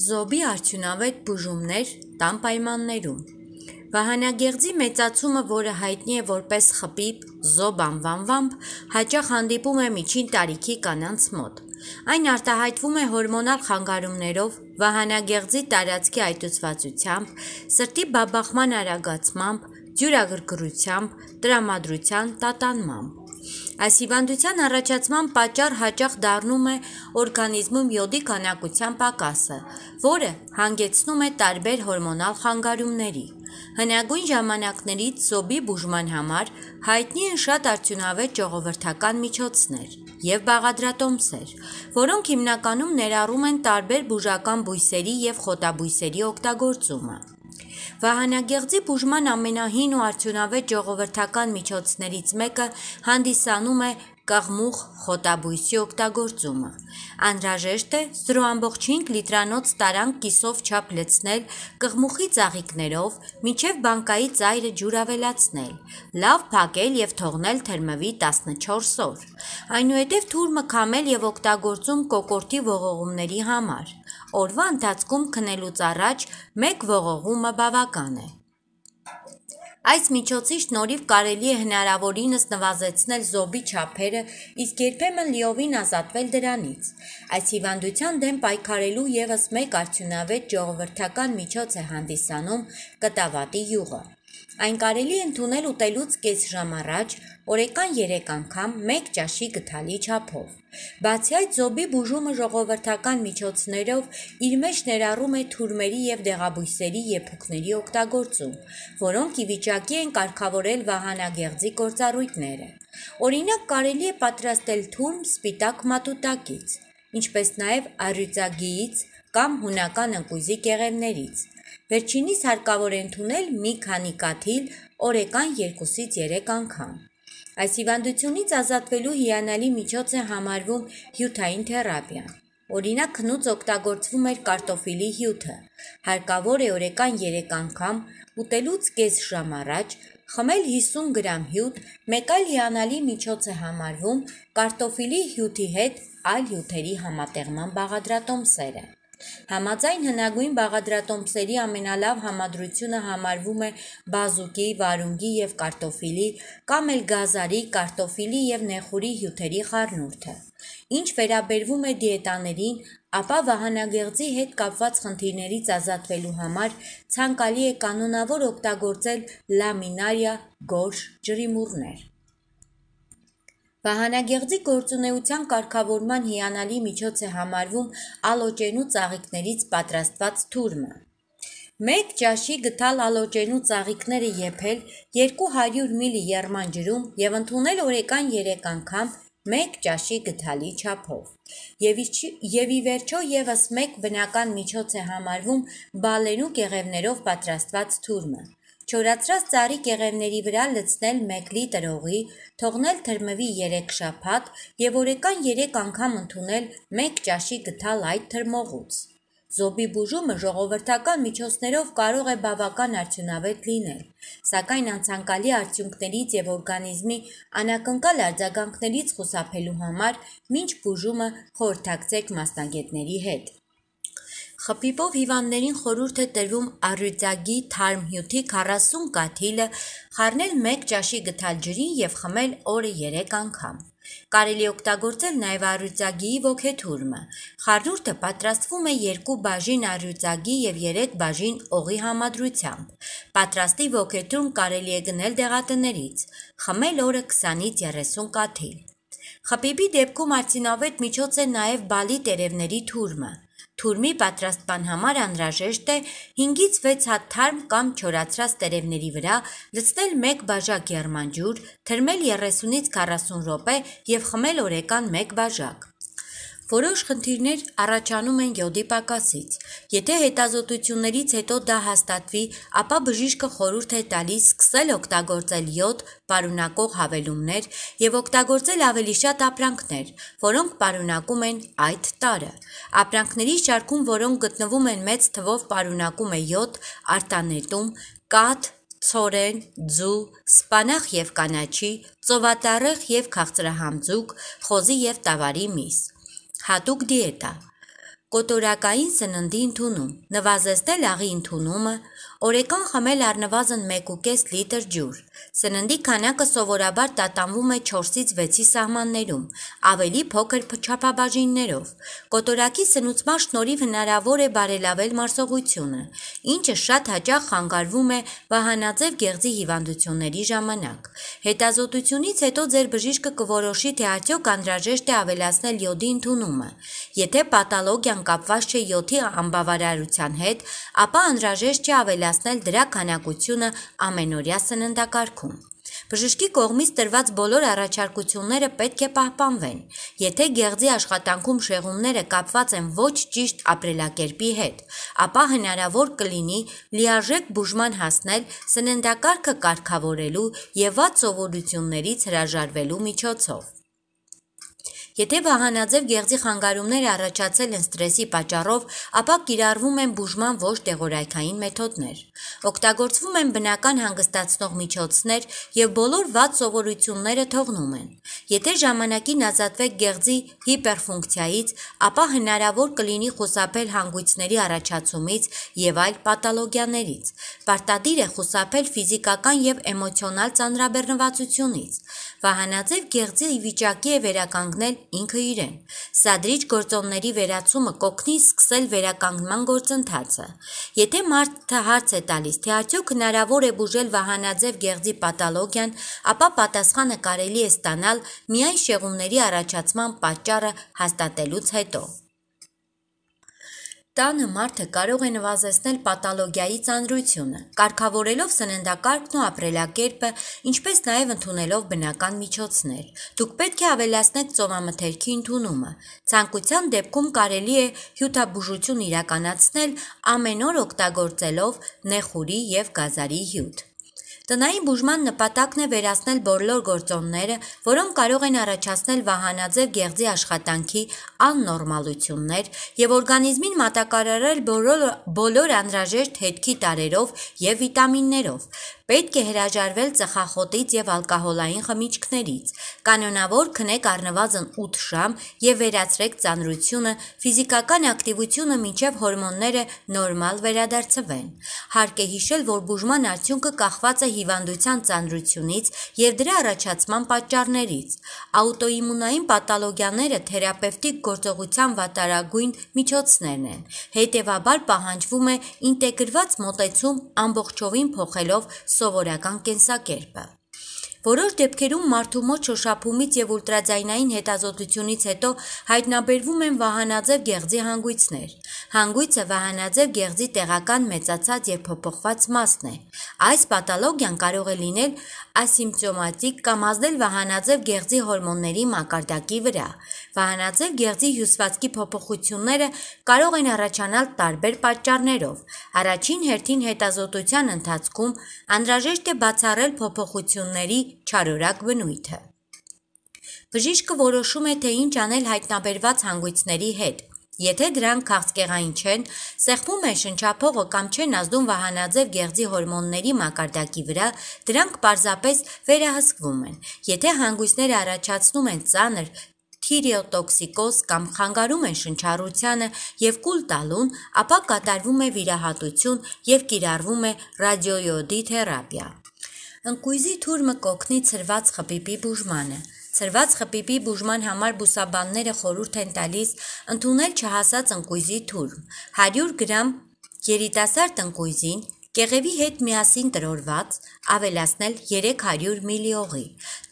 Զոբի արդյունավետ բուժումներ տան պայմաններում։ Վահանագեղձի մեծացումը, որը հայտնի է որպես խպիպ, զոբ անվանվամբ, հաճախ հանդիպում է միջին տարիքի կանանց մոտ։ Այն արտահայտվում է հորմոնալ խանգարումներով, վահանագեղձի տարածքի այտուցվածությամբ, սրտի բաբախման արագացմամբ, դյուրագրգռությամբ, տրամադրության տատանմամբ։ Այս հիվանդության առաջացման պատճառ հաճախ դառնում է օրգանիզմում յոդի քանակության պակասը, որը հանգեցնում է տարբեր հորմոնալ խանգարումների։ Հնագույն ժամանակներից զոբի բուժման համար հայտնի են շատ արդյունավետ ժողովրդական միջոցներ և բաղադրատոմսեր, որոնք հիմնականում ներառում են տարբեր բուժական բույսերի և խոտաբույսերի օգտագործումը։ Վահանագեղձի բուժման ամենահին ու արդյունավետ ժողովրդական միջոցներից մեկը հանդիսանում է կաղմուխ խոտաբույսի օգտագործումը։ Անհրաժեշտ է 0,5 լիտրանոց տարանք կիսով չափ լցնել կղմուխի ծաղիկներով, մինչև բանկայի ծայրը ջուր ավելացնել, լավ փակել և թողնել թրմվի 14 օր։ Այնուհետև թուրմը քամել և օգտագործում կոկորդի ողողումների համար։ Օրվա ընթացքում քնելուց առաջ 1 ողողումը բավական է։ Այս միջոցի շնորհիվ կարելի է հնարավորինս նվազեցնել զոբի չափերը, իսկ երբեմն լիովին ազատվել դրանից։ Այս հիվանդության դեմ պայքարելու ևս մեկ արդյունավետ ժողովրդական միջոց է հանդիսանում կտավատի յուղը։ Այն կարելի է ընդունել ուտելուց կես ժամ առաջ, օրեկան 3 անգամ 1 ճաշի գդալի չափով։ Բացի այդ, զոբի բուժումը ժողովրդական միջոցներով իր մեջ ներառում է թուրմերի և դեղաբույսերի եփուկների օգտագործում, որոնք ի վիճակի են կարգավորել վահանագեղձի գործառույթները։ Օրինակ, կարելի է պատրաստել թուրմ սպիտակ մատուտակից, ինչպես նաև առյուծագիից կամ հունական ընկույզի կեղևներից։ Վերջինիս հարկավոր է ընդունել մի քանի կաթիլ օրեկան 2-ից 3 անգամ։ Այս հիվանդությունից ազատվելու հիանալի միջոց է համարվում հյութային թերապիան։ Օրինակ, քնուց օգտագործվում էր կարտոֆիլի հյութը։ Հարկավոր է օրեկան 3 անգամ ուտելուց կես ժամ առաջ խմել 50 գրամ հյութ, մեկ այլ հիանալի միջոց է համարվում կարտոֆիլի հյութի հետ այլ հյութերի համատեղման բաղադրատոմսերը։ Համաձայն հնագույն բաղադրատոմսերի ամենալավ համադրությունը համարվում է բազուկի, վարունգի և կարտոֆիլի կամ էլ գազարի, կարտոֆիլի և նեխուրի հյութերի խառնուրդը։ Ինչ վերաբերվում է դիետաներին, ապա վահանագեղձի հետ կապված խնդիրներից ազատվելու համար ցանկալի է կանոնավոր օգտագործել լամինարիա գորշ ջրիմուռներ։ Վահանագեղձի գործունեության կարգավորման հիանալի միջոց է համարվում ալոճենու ծաղիկներից պատրաստված թուրմը։ 1 ճաշի գդալ ալոճենու ծաղիկները եփել 200 մլ եռման ջրում և ընդունել օրեկան 3 անգամ 1 ճաշի գդալի չափով։ Եվ ի վերջո ևս մեկ բնական միջոց է համարվում բալենու կեղևներով պատրաստված թուրմը։ Չորացրած ծառի կեղևների վրա լցնել 1 լիտր օղի, թողնել թրմվի 3 շաբաթ և օրեկան 3 անգամ ընդունել 1 ճաշի գդալ այդ թրմողուց։ Զոբի բուժումը ժողովրդական միջոցներով կարող է բավական արդյունավետ լինել, սակայն անցանկալի արդյունքներից և օրգանիզմի անակնկալ արձագանքներից խուսափելու համար մինչ բուժումը խորհրդակցեք մասնագետների հետ։ Խպիպով հիվանդներին խորհուրդ է տրվում առյուծագի թարմ հյութի 40 կաթիլը խառնել 1 ճաշի գդալ ջրին և խմել օրը 3 անգամ։ Կարելի է օգտագործել նաև առյուծագիի ոգեթուրմը։ Խառնուրդը պատրաստվում է 2 բաժին առյուծագի և 3 բաժին օղի համադրությամբ։ Պատրաստի ոգեթուրմ կարելի է գնել դեղատներից։ Խմել օրը 20-ից 30 կաթիլ։ Խպիպի դեպքում արդյունավետ միջոց է նաև բալի տերևների թուրմը։ Թուրմի պատրաստման համար անհրաժեշտ է 5-ից 6 հատ թարմ կամ չորացրած տերևների վրա լցնել 1 բաժակ եռման ջուր, թրմել 30-ից 40 րոպե և խմել օրեկան 1 բաժակ։ Որոշ խնդիրներ առաջանում են յոդի պակասից։ Եթե հետազոտություններից հետո դա հաստատվի, ապա բժիշկը խորհուրդ է տալիս սկսել օգտագործել յոդ պարունակող հավելումներ և օգտագործել ավելի շատ ապրանքներ, որոնք պարունակում են այդ տարրը։ Ապրանքների շարքում, որոնք գտնվում են մեծ թվով պարունակում է յոդ, արտանետում, կաթ, ցորեն, ձու, սպանախ և կանաչի, ծովատառեխ և քաղցրահամ ձուկ, խոզի և տավարի միս։ Հատուկ դիետա։ Կոտորակային սննդի ընդունում, նվազեցնել աղի ընդունումը, օրեկան խմել առնվազն 1,5 լիտր ջուր, սննդի քանակը սովորաբար տատանվում է 4-ից 6-ի սահմաններում, ավելի փոքր չափաբաժիններով, կոտորակի սնուցման շնորհիվ հնարավոր է բարելավել մարսողությունը, ինչը շատ հաճախ խանգարվում է վահանաձև գեղձի հիվանդությունների ժամանակ։ Հետազոտությունից հետո ձեր բժիշկը կորոշի, թե արդյոք անհրաժեշտ է ավելացնել յոդի ընդունումը։ Եթե պաթոլոգիան կապված չէ յոդի անբավարարության հետ, ապա անհրաժեշտ չէ ավելացնել դրա քանակությունը ամենօրյա սննդակարգում։ Բժշկի կողմից տրված բոլոր առաջարկությունները պետք է պահպանվեն։ Եթե գեղձի աշխատանքում շեղումները կապված են ոչ ճիշտ ապրելակերպի հետ, ապա հնարավոր կլինի լիարժեք բուժման հասնել սննդակարգը կարգավորելու և վատ սովորություններից հրաժարվելու միջոցով։ Եթե վահանաձև գեղձի խանգարումները առաջացել են սթրեսի պատճառով, ապա կիրառվում են բուժման ոչ դեղորայքային մեթոդներ։ Օգտագործվում են բնական հանգստացնող միջոցներ և բոլոր վատ սովորությունները թողնում են։ Եթե ժամանակին ազատվեք գեղձի հիպերֆունկցիայից, ապա հնարավոր կլինի խուսափել հանգույցների առաջացումից և այլ պաթոլոգիաներից։ Պարտադիր է խուսափել ֆիզիկական և էմոցիոնալ ծանրաբեռնվածությունից։ Վահանաձև գեղձի վիճակի է վերականգնել ինքը իրեն։ Սադրիչ գործոնների վերացումը կօգնի սկսել վերականգնման գործընթացը։ Եթե մարդը հարց է տալիս, թե արդյոք հնարավոր է բուժել վահանաձև գեղձի պաթոլոգիան, ապա պատասխանը կարելի է ստանալ միայն շեղումների առաջացման պատճառը հաստատելուց հետո։ Տանը մարդը կարող է նվազեցնել պաթոլոգիայի ծանրությունը, կարգավորելով սննդակարգն ու ապրելակերպը, ինչպես նաև ընդունելով բնական միջոցներ։ Դուք պետք է ավելացնեք ծովամթերքի ընդունումը։ Ցանկության դեպքում կարելի է հյութաբուժություն իրականացնել ամեն օր օգտագործելով նեխուրի և գազարի հյութ։ Տնային բուժման նպատակն է վերացնել բոլոր գործոնները, որոնք կարող են առաջացնել վահանաձև գեղձի աշխատանքի աննորմալություններ և օրգանիզմին մատակարարել բոլոր անհրաժեշտ հետքի տարրերով և վիտամիններով։ Պետք է հրաժարվել ծխախոտից և ալկոհոլային խմիչքներից։ Կանոնավոր քնեք առնվազն 8 ժամ և վերացրեք ծանրությունը, ֆիզիկական ակտիվությունը մինչև հորմոնները նորմալ վերադարձվեն։ Հարկ է հիշել, որ բուժման արդյունքը կախված է հիվանդության ծանրությունից և դրա առաջացման պատճառներից։ Աուտոիմունային պաթոլոգիաները թերապևտիկ գործողության վատարագույն միջոցներն են։ Հետևաբար պահանջվում է ինտեգրված մոտեցում ամբողջովին փոխելով սովորական կենսակերպը։ Որոշ դեպքերում մարդու մոտ շոշափումից և ուլտրաձայնային հետազոտությունից հետո հայտնաբերվում են վահանաձև գեղձի հանգույցներ։ Հանգույցը վահանաձև գեղձի տեղական մեծացած և փոփոխված մասն է։ Այս պաթոլոգիան կարող է լինել ասիմպտոմատիկ կամ ազդել վահանաձև գեղձի հորմոնների մակարդակի վրա։ Վահանաձև գեղձի հյուսվածքի փոփոխությունները կարող են առաջանալ տարբեր պատճառներով։ Առաջին հերթին հետազոտության ընթացքում անհրաժեշտ է բացառել փոփոխությունների չարորակ բնույթը։ Բժիշկը որոշում է, թե ինչ անել հայտնաբերված հանգույցների հետ։ Եթե դրանք քաղցկեղային չեն, սեղմում են շնչափողը կամ չեն ազդում վահանաձև գեղձի հորմոնների մակարդակի վրա, դրանք պարզապես վերահսկվում են։ Եթե հանգույցները առաջացնում են ծանր թիրեոտոքսիկոզ կամ խանգարում են շնչառությանը և կուլ տալուն, ապա կատարվում է վիրահատություն և կիրառվում է ռադիոյոդի թերապիա։ Ընկույզի թուրմը կօգնի ցրված խբիբի բուժմանը։ Ցրված խբիբի բուժման համար բուսաբանները խորհուրդ են տալիս ընդունել չհասած ընկույզի թուրմ։ 100 գրամ երիտասարդ ընկույզին կեղևի հետ միասին տրորված ավելացնել 300 մլ օղի։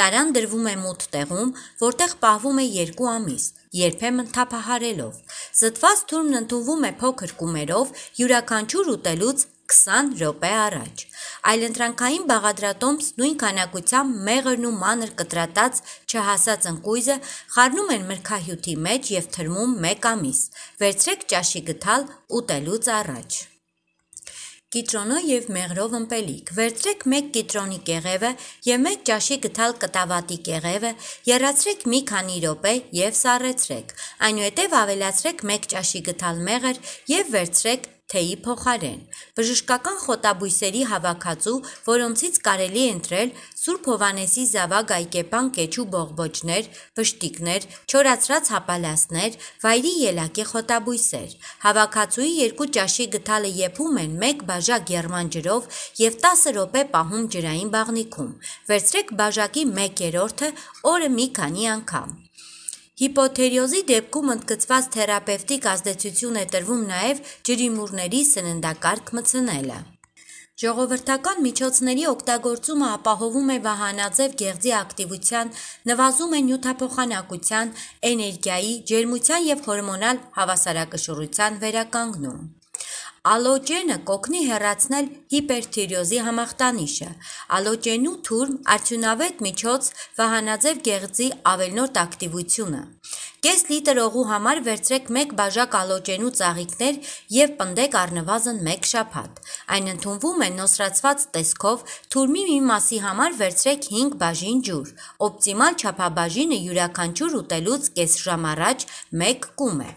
Տարան դրվում է մութ տեղում, որտեղ պահվում է 2 ամիս, երբեմն թափահարելով։ Զտված թուրմն ընդունվում է փոքր կումերով յուրաքանչյուր ուտելուց 20 րոպե առաջ։ Այլընտրանքային բաղադրատոմս նույն քանակությամբ մեղրն ու մանր կտրատած չհասած ընկույզը խառնում են մրգահյութի մեջ և թրմում 1 ամիս։ Վերցրեք ճաշի գդալ ուտելուց առաջ։ Կիտրոնով և մեղրով ըմպելիք։ Վերցրեք 1 կիտրոնի կեղևը և 1 ճաշի գդալ կտավատի կեղևը, եռացրեք մի քանի րոպե և սառեցրեք։ Այնուհետև ավելացրեք 1 ճաշի գդալ մեղր և վերցրեք թեյի փոխարեն։ Բժշկական խոտաբույսերի հավաքածու, որոնցից կարելի է ընտրել Սուրբ Հովհաննեսի զավակ այկեպան կեչու բողբոջներ, վշտիկներ, չորացրած հապալասներ, վայրի ելակի խոտաբույսեր։ Հավաքածուի 2 ճաշի գդալը եփում են 1 բաժակ եղման ջրով և 10 րոպե պահում ջրային բաղնիքում։ Վերցրեք բաժակի 1/3-ը օրը մի քանի անգամ։ Հիպոթիրոզի դեպքում ընդգծված թերապևտիկ ազդեցություն է տրվում նաև ջրիմուռների սննդակարգ մտցնելը։ Ժողովրդական միջոցների օգտագործումը ապահովում է վահանաձև գեղձի ակտիվության, նվազում է նյութափոխանակության, էներգիայի, ջերմության և հորմոնալ հավասարակշռության վերականգնում։ Ալոճենը կօգնի հեռացնել հիպերթիրոզի համախտանիշը։ Ալոճենու թուրմ, արդյունավետ միջոց վահանաձև գեղձի ավելորդ ակտիվությունը։ Կես լիտր օղու համար վերցրեք 1 բաժակ ալոճենու ծաղիկներ և պնդեք առնվազն 1 շաբաթ։ Այն ընդունվում է նոսրացված տեսքով, թուրմի մի մասի համար վերցրեք 5 բաժին ջուր։ Օպտիմալ չափաբաժինը յուրաքանչյուր ուտելուց կես ժամ առաջ 1 կում է։